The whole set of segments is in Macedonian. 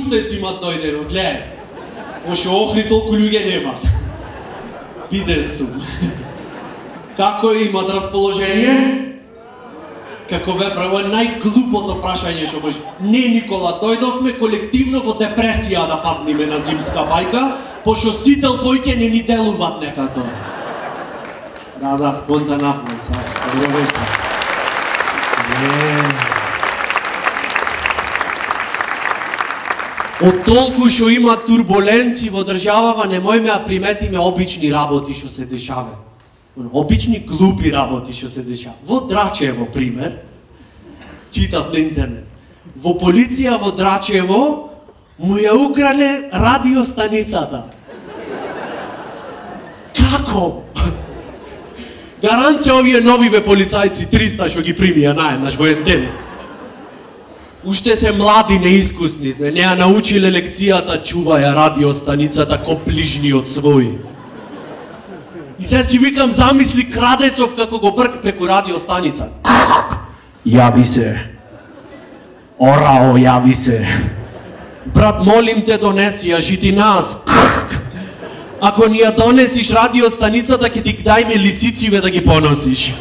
устец имат дојдено, гледај. Пошто Охрид толку луѓе немат. Биден сум. Како имат расположение? Како ве право најглупото прашање што може. Не, Никола, дојдовме колективно во депресија да падниме на зимска бајка, пошто сите лпојке не ни делуваат некако. Да, спонтанапно, добро вечер. Од толку што има турбуленци во државава, немојме да приметиме обични работи што се дешаваат. Обични глупи работи што се дешаваат. Во Драчево, пример, читав на интернет. Во полиција во Драчево му ја украле радиостаницата. Како? Гаранција овие новиве полицајци 300 што ги примија наеднаш во еден ден. Уште се млади, неискусни, не ја научиле лекцијата, чуваја радиостаницата ко ближниот свој. И се си викам, замисли крадецов како го брк преку радиостаница. Јави се. Орао, јави се. Брат, молим те, донеси ја жити нас. Ако ни ја донесиш радиостаницата, ќе ти дајме лисициве да ги поносиш.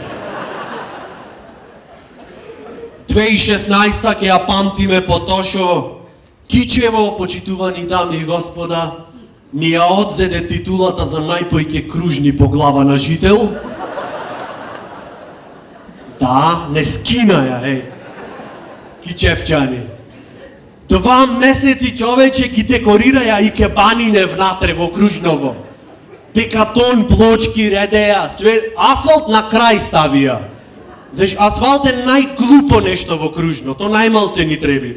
2016 ќе ја памтиме по тоа што Кичево, почитувани дами и господа, ни ја одзеде титулата за најпојќе кружни по глава на жител. Да, не скина ја, Кичевчани. 2 месеци човече ги декорираја и кебанине внатре во Кружново. Бекатон, плочки, редеја, све, асфалт на крај ставија. Заш асфалт е најглупо нешто во Кружно, то најмалце ни треби.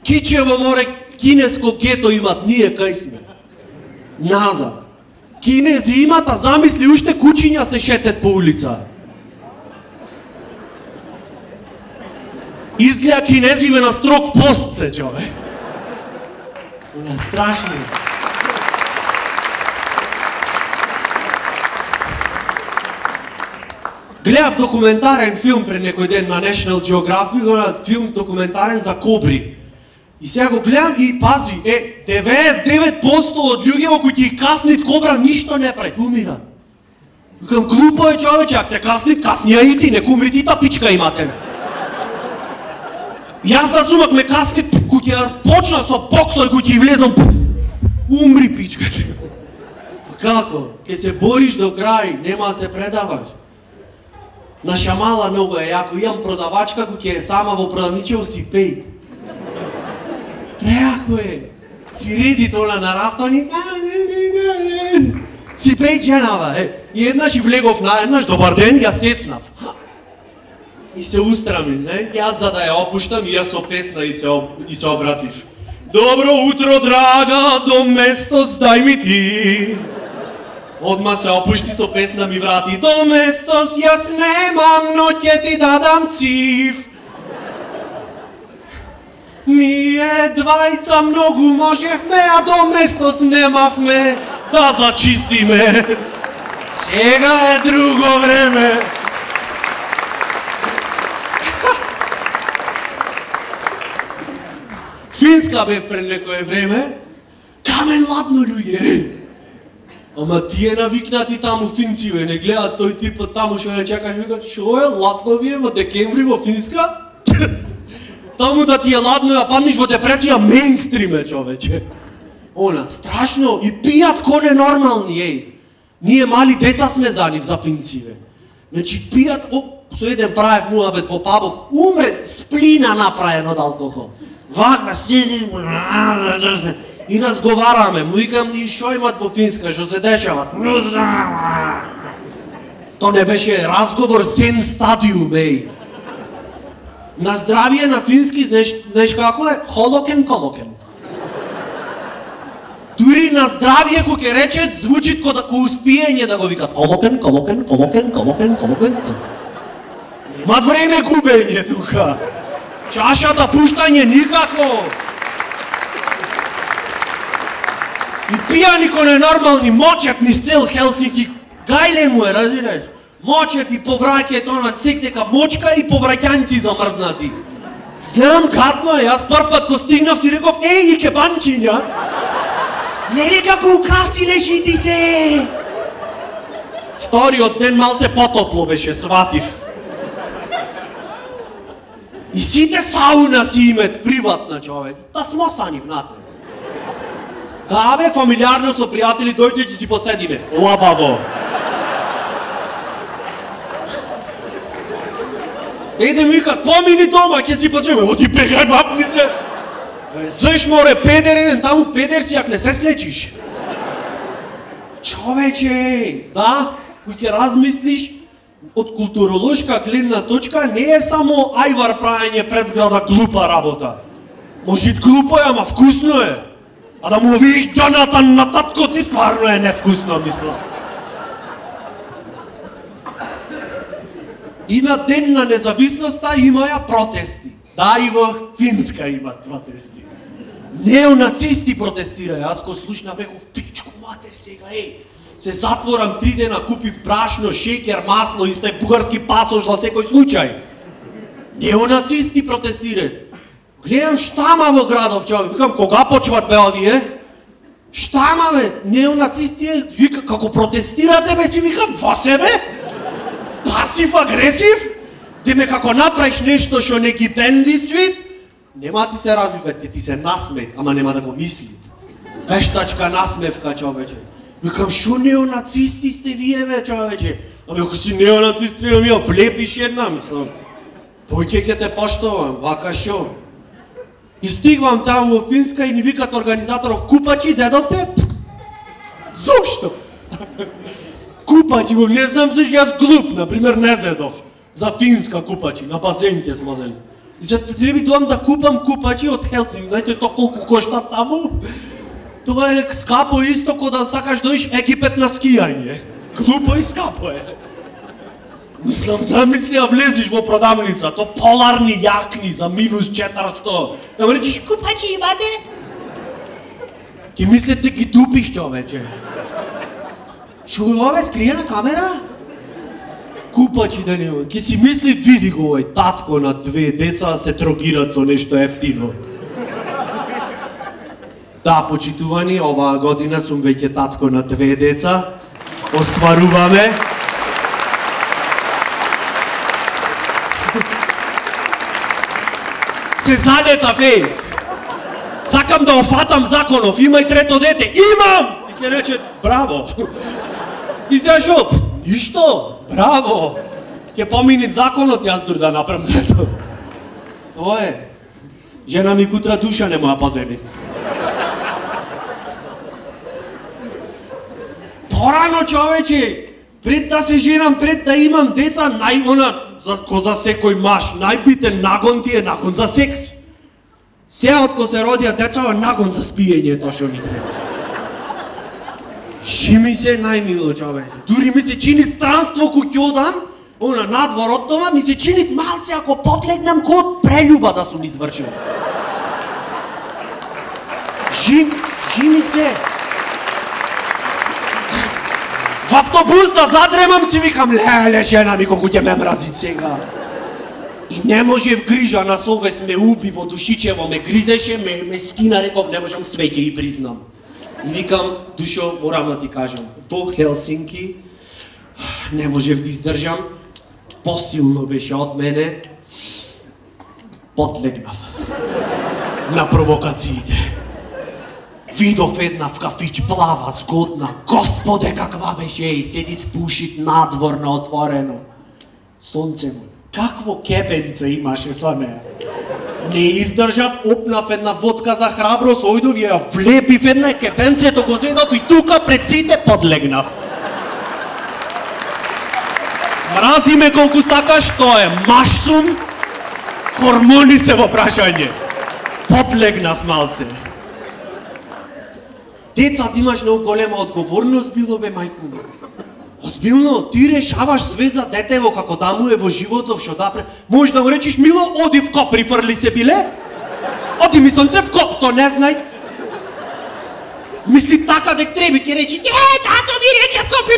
Кичево море, кинеско гето имат, ние кај сме. Назад. Кинези имат, а замисли уште кучиња се шетет по улица. Изгледа кинезиве на строг пост се, човек. Страшно. Гледав документарен филм пред некој ден на National Geographic, филм документарен за кобри. И сега го гледам и пази, 99% од луѓето кои ќе каснит кобра ништо не прави, умира. Викам, глупо е човече, ако те каснит, каснија и ти, нека умри ти та пичка имате. Јас да сумак ме каснит, кој ќе почна со боксот, кој ќе влезам, умри пичката. Како? Ке се бориш до крај, нема да се предаваш. На Шамала многу е јако, имам продавачка кој ќе е сама во продавничево си пеј. Преако е. Си реди тоа на рафтони, си пеј џенава, И еднаш и влегов на еднаш, добар ден, ја сецнав. И се устрами, Јас за да ја опуштам, и јас со песна и се обратив. Добро утро, драга, до местос дај ми ти. Одма се опушти со песна ми врати. До местос јас немам, но ќе ти дадам цив. Ние двајца многу можевме, а до местос немавме да зачистиме. Сега е друго време. Финска бев пред некое време, камен ладно луѓе. Ама тие навикнати таму финциве, не гледат тој типот таму што ја чекаш, викат, шо е, ладно ви е во декември во Финска? Таму да ти е ладно ја падниш во депресија, мейнстрим е, човече. Она, страшно, и пијат ко ненормални, Ние мали деца сме за нив, за финциве. Значи, пијат, со еден правев муабет во пабов, умре сплина направен од алкохол. Вака, стизи, и разговараме, му викам ни шо имат во Финска, што се дешава. То не беше разговор, сен стадиум, На здравие на фински, знаеш како е? Холокен-колокен. Дури на здравие, кој ќе рече, звучи ко успиење да го викат. Холокен. Имат време губење тука. Чашата пуштање никако. И пијани ко ненормални мочат низ цел Хелсинки. Гајле му е, разбираш? Мочат и повраќајте она цек дека мочка и повраќањци замрзнати. Знам, гадно е, јас прв пат ко стигнав си реков, еј, кебанчиња! Леле како украсиле жити се! Вториот ден малце потопло беше, сватив. И сите сауна си имат приватна, човек. Да смосани внатре. Да, бе, фамилиарно со пријатели, дојде ќе си поседиме. Лабаво. Еде ми вика, помини дома, ќе си поседиме. Оди бегај, мапни се. Заш море, педер еден, таму педер си, ако не се слечиш. Човече, да, кој ќе размислиш, од културолошка гледна точка не е само ајвар праење пред зграда глупа работа. Може и глупо е, ама вкусно е. А да му видиш дъната на татко ти стварно е невкусно, мисля. И на ден на независноста имаја протести. Да, и во Финска имат протести. Неонацисти протестираја. Аз ко слушнав реков, пичку матер сега, се затворам 3 дена, купив брашно, шекер, масло и стај бугарски пасош за секој случај. Неонацисти протестираат. Гледам штама во градов, човек, викам, кога почват бе овие? Штама бе, неонацисти, вика, како протестирате бе, си викам, во себе? Пасив, агресив? Деме како направиш нешто што не ги бенди свит, нема ти се развиват, ти се насмеет, ама нема да го мисли. Вештачка насмевка, човече. Викам, шо неонацисти сте вие, бе, човече? Ами ако си неонацисти, ми ја влепиш една, мислам. Тој ќе те поштовам, вака шо? И стигвам таму во Финска и ни викат организаторов, купачи зедовте? Зошто? Купачи, не знам зашто јас глуп, например, не зедов. За Финска купачи, на базенке смо дали. И се треба доам да купам купачи од Хелсинки, знаете то колку кошта таму? Тоа е скапо исто ко да сакаш доиш Египет на скијање. Глупо и скапо е. Мислам, замисли, а влезиш во продавница, то поларни јакни за минус 400. Да му речиш, купачи имате? Ки мислите ги дупиш, човече. Шо ова е скриена камера? Купачи да нема. Ки си мисли, види го овој татко на 2 деца се трогират со нешто ефтино. Да, почитувани, оваа година сум веќе татко на 2 деца. Остваруваме. Се задетав, еј. Сакам да офатам законов, имај 3-то дете. Имам! И ќе рече, браво. И сега шо? Ништо? Браво! Ќе поминит законот, јас дур да направам 3-то. Тоа е. Жена ми кутра душа не моја паземи. Порано, човече, пред да се женам, пред да имам деца, ко за секој маш, најбитен нагон ти е нагон за секс. Сега од ко се родија децава, нагон за спиење, тоа што ми треба. Ши ми се најмило, човече. Дури ми се чини странство кој ќе одам, надвор од дома, ми се чини малце ако подлегнам ко од прелюба да сум извршил. Ши ми се. В автобус да задремам си викам, леле, жена ми колку ќе ме мрази сега. И не може в грижа на совест ме уби во душичево, ме гризеше, ме скина, реков, не можам све ќе ги признам. И викам, душо, морам да ти кажам, во Хелсинки не можев да издржам, посилно беше од мене, подлегнав на провокациите. Видов една в кафич, плава, згодна, господе каква беше, и седит пушит надвор на отворено. Сонце му, какво кебенце имаше со неја. Не издржав, опнав една водка за храброст, ојдов ја влепив една кебенцето, го зедов и тука пред сите подлегнав. Мрази ме колку сакаш, тоа е маш сум, хормони се во прашање. Подлегнав малце. Децата имаш многу голема одговорност, било бе, мајку ми. Озбилно, ти решаваш све за детево како да му е во животов, шо да можеш да му речиш, мило, оди в коп, прифрли се биле? Оди ми сонце в коп, то не знај. Мисли така дек треби, ке речи, тато ми рече в коп,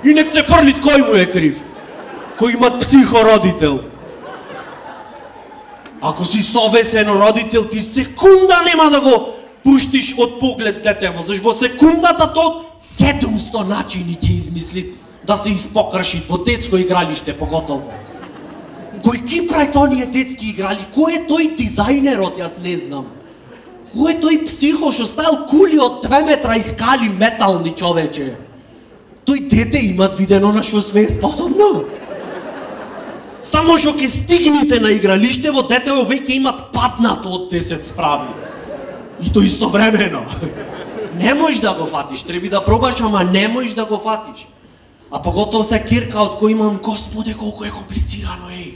и нек се фрлит кој му е крив. Кој имат психородител. Ако си совесен родител, ти секунда нема да го пуштиш од поглед детево, зашто во секундата тоа 700 начини ќе измисли да се испокрши во детско игралиште поготово. Кој ги прави тоние детски играли? Кој е тој дизајнерот, јас не знам. Кој е тој психо што ставил кули од 2 метра и скали метални, човече? Тој дете имат видено на што све е способно. Само што ќе стигнете на игралиштево, детево веќе имат паднато од 10 справи. И то истовремено. Не можеш да го фатиш, треба да пробаш, ама не можеш да го фатиш. А поготово се кирка од кој имам, Господе, колку е комплицирано, еј.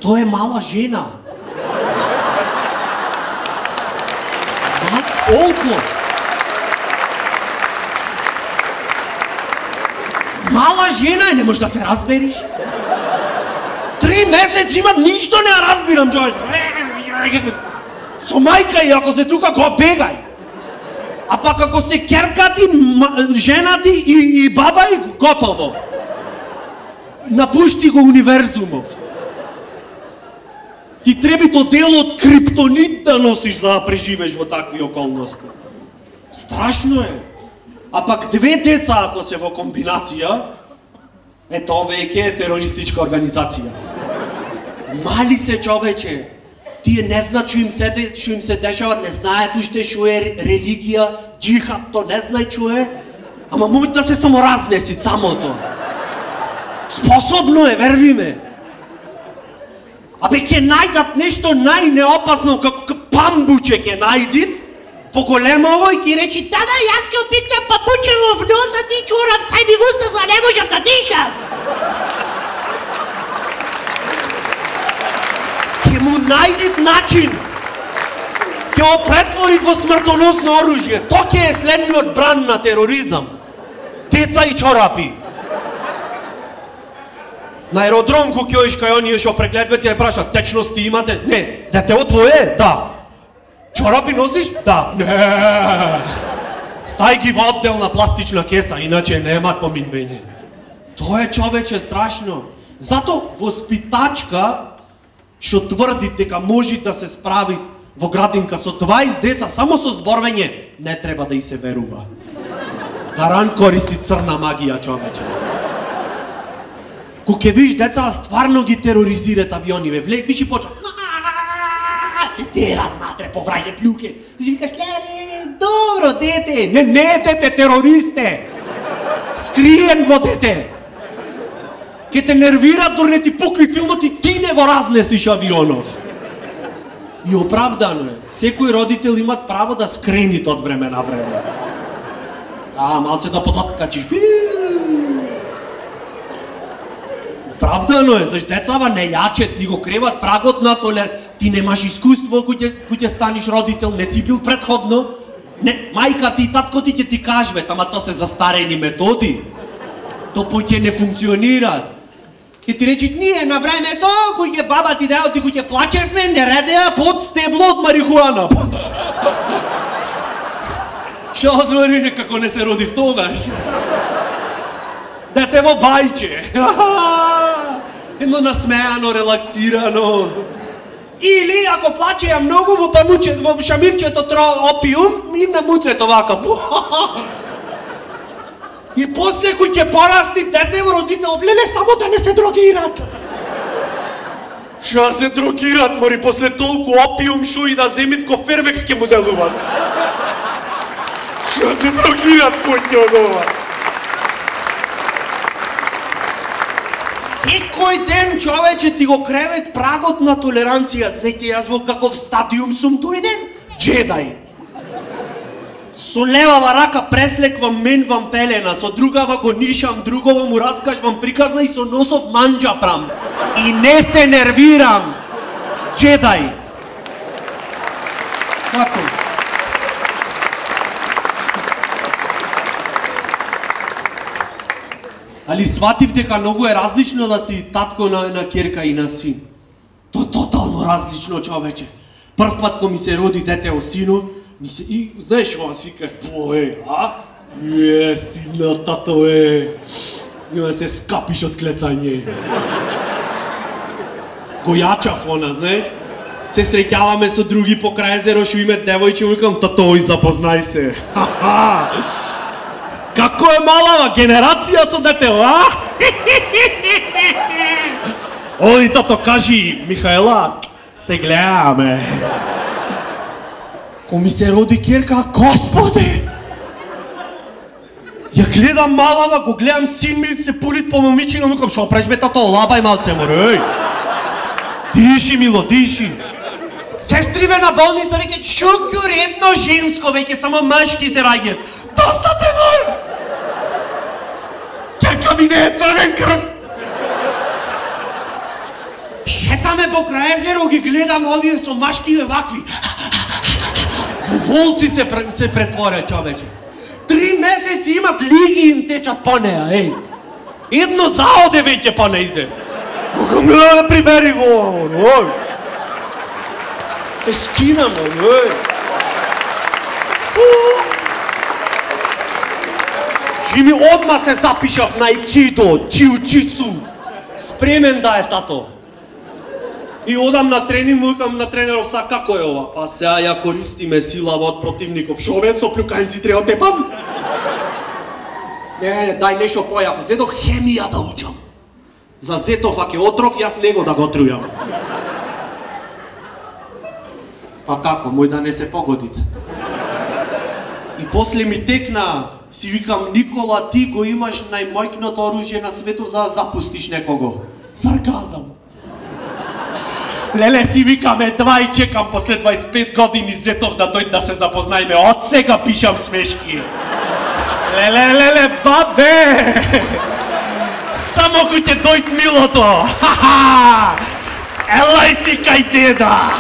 Тоа е мала жена. Колку? Мала жена е, не можеш да се разбериш. 3 месеци имам, ништо не разбирам, човек. Со мајка и ако се тука, го бегај. А пак ако се керкати, женати и баба и готово. Напушти го универзумов. Ти треба то дело од криптонит да носиш за да преживеш во такви околности. Страшно е. А пак 2 деца ако се во комбинација, ето веќе е терористичка организација. Мали се, човече. Тие не знаат што им се дешава, не знаат уште што е религија, джихад, то не знаат што е. Ама може да се саморазнеси самото. Способно е, верви ме. Абе ќе најдат нешто најнеопасно, како памбуче ќе најдит, поголемово и ќе речи, тада јас ќе опитам папучево в носа, ти чурам, стај ми в уста, за не можам да дишам. Ќе му најдит начин, ќе го претворит во смртоносно оружје. Тоа ќе е следниот бран на тероризам. Деца и чорапи. На аеродром кога ќе кај оние што прегледвате ја прашат, течности имате? Не. Детево твое? Да. Чорапи носиш? Да. Не. Стај ги во одделна пластична кеса, иначе нема поминвење. Тоа е, човече, страшно. Зато воспитачка што тврди дека може да се справи во градинка со 20 деца само со зборвење, не треба да и се верува. Гарант користи црна магија, човече. Кога ќе видиш деца, стварно ги тероризират авиониве, виш и почва. Се дерат матре, повраѓа плюке. И си викаш, леле, добро дете. Не е дете, терористе. Скриен во дете. Ке те нервират, дори не ти пукни филмот и ти не го разнесиш авионов. И оправдано е. Секој родител имат право да скренит од време на време. Малце да подоткачиш. Оправдано е, зашто децава не јачет, ни го креват прагот на толер. Ти немаш искуство кој ќе станиш родител, не си бил претходно. Не, мајка ти и татко ти ќе ти кажват, ама тоа се застарени методи. То поќе не функционира. Ќе ти речи, ние на времето, кој ќе баба ти дајот и кој ќе плачевме, не редеа под стебло од марихуана. Шо збориш како не се родив тогаш? Детево бајче. Едно насмеано, релаксирано. Или ако плачеја многу во шамивчето опиум, им на муцето вака. И после кој ќе порасти детево, родител, влеле само да не се дрогират. Шо се дрогират, мори, после толку опиум, шо и да земит ко фервекс ке му делуват. Шо се дрогират, поќе од ова. Секој ден, човече, ти го кревет прагот на толеранција. Знаете, јас во каков стадиум сум дојден? Джедај. Со левава рака преслеквам менвам пелена, со другава го нишам, другова му раскажвам приказна и со носов манџа прам. И не се нервирам. Джедај. Како? Али сватив дека многу е различно да си татко на керка и на син. Тоа е тотално различно, човече. Прв пат кога ми се роди дете о синов, и знаеш кога си викаш, сина, тато нема се скапиш од клецање. Го јачав она, знаеш? се среќаваме со други по крај езеро, што име девојче, викам, татој, запознај се. Како е малава генерација со детево, а? Оди, тато, кажи, Михаела, се гледаме. Ко ми се роди керка, Господи! Ја гледам малава, го гледам син ми, се пулит по момичино, викам, шо преш бе, тато, лабај малце, море, диши, мило, диши. Сестриве на болница, веќе, чуќу редно женско, веќе, само мажки се раѓат. Доста те мор! Керка ми не е црвен крст! Шетаме по крај езеро, ги гледам овие со машкиве вакви. Во волци се претворе, човече. 3 месеци имат лиги им течат по неа, еј. Едно заоде веќе по неизе. Кога да прибери го, ој. Те скинам, ој. Жими, одма се запишав на айкидо, џиу-џицу. Спремен да е, тато. И одам на тренинг, викам на тренеров, са како е ова? Па сега ја користиме силава од противников. Шо бе, со плюканици треба тепам? Не, дај нешто појако. Зедов хемија да учам. За зетов, ако е отров, јас него да го трујам. Па како, мој да не се погодите. И после ми текна, си викам, Никола, ти го имаш најмојкното оружје на светот за да запустиш некого. Сарказам. Леле, си викаме, два и чекам после 25 години зетов да дојде да се запознаеме. Од сега пишам смешки. Леле, бабе! Само ко ќе дојд милото. Елај си кај деда.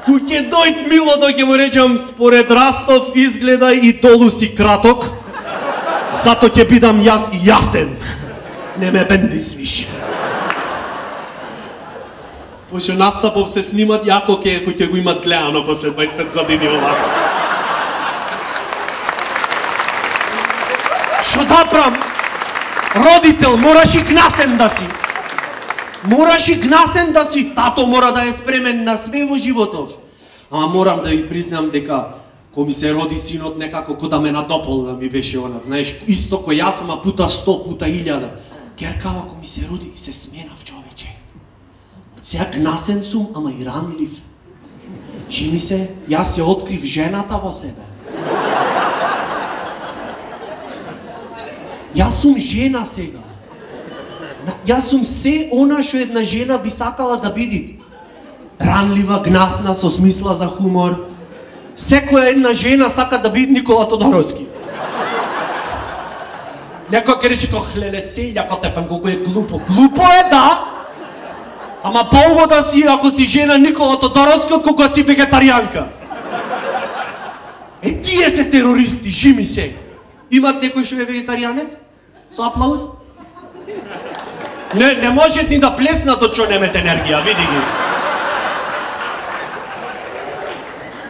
Ко ќе дојд милото, ќе му речам, според Растов изгледа и долу си краток. Зато ќе бидам јас јасен. Не ме бендис више. Пошто настапов се снимат јако кој ќе го имат гледано после 25 години овако. Шо да прам? Родител, мораш и гнасен да си. Мораш и гнасен да си. Тато мора да е спремен на све во животов. Ама морам да ви признам дека кој ми се роди синот некако ко да ме надополна ми беше она, знаеш, исто кој јас, ама пута 100, пута 1000. Керкава кој ми се роди се сменав, човече. Сега гнасен сум, ама и ранлив. Чини се, јас ја открив жената во себе. Јас сум жена сега. Јас сум се она што една жена би сакала да биде. Ранлива, гнасна, со смисла за хумор. Секоја една жена сака да биде Никола Тодоровски. Некој ќе рече, леле, селјако тепен, колку е глупо. Глупо е, да! Ама по-убаво да си, ако си жена Никола Тодоровски, отколку си вегетаријанка. Тие се терористи, жими се. Имат некој што е вегетаријанец? Со аплауз? Не можат ни да плеснат од што немет енергија, види ги.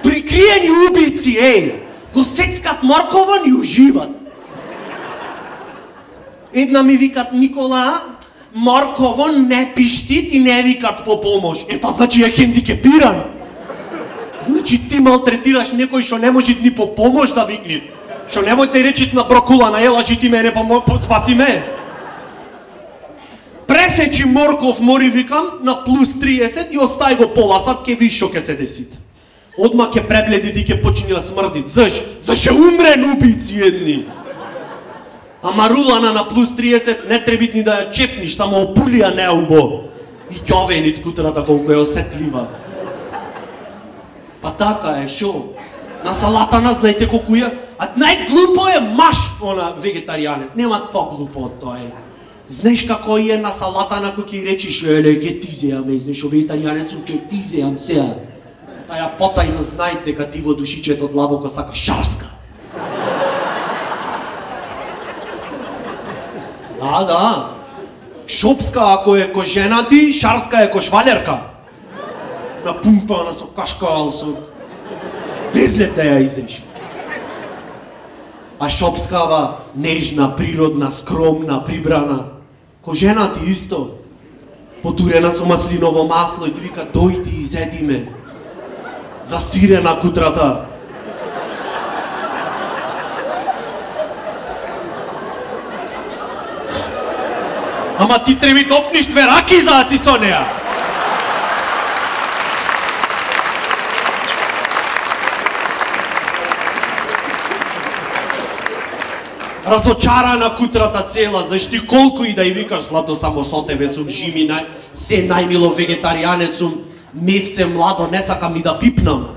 Прикриени убици, го сецкат морковон и уживат. Една ми викат, Никола, морковон не пиштит и не викат по помош. Па значи е хендикепиран. Значи ти малтретираш некој што не може ни по помош да викне. Што немој да речит на брокулана, елажи ти мене, спаси ме. Пресечи морков, мори викам, на плюс 30 и остави го пола сат, ке виш што ке се деси. Одма ке пребледи и ке почини да смрдит. Зашо умрен убици едни. Ама рулана на плюс 30 не требит ни да ја чепниш, само опулија неубо. И ќовенит кутрата колку е осетлива. Па така е, шо? На салатана знаете колку е? А најглупо е маш, она вегетаријанет. Нема по-глупо од тоа е. Знаеш како е на салатана кој ќе речиш, еле, ке ти зеаме, знаеш, вегетаријанет сум, ке ти зеам сега. Таја потајно знаете дека ти во душичето длабоко сака шарска. Да. Шопска ако е ко жена ти, шарска е ко швалерка. Напумпана со кашкал, со... Безлет да ја изеш. А шопскава, нежна, природна, скромна, прибрана. Ко жена ти исто. потурена со маслиново масло и ти вика дојди и зеди ме. Засирена кутрата. Ама ти треба да опниш две раки за да си со неа. Разочарана кутрата цела, зашти колку и да ја викаш злато само со тебе сум жими, се најмило вегетаријанец сум, мевце младо, не сакам ни да пипнам.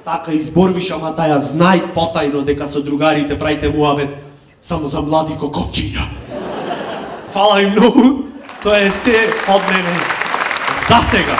Така изборвиш, ама да ја знај потајно дека со другарите правите муабет само за млади коковчиња. Фала им многу, тоа е се од мене за сега.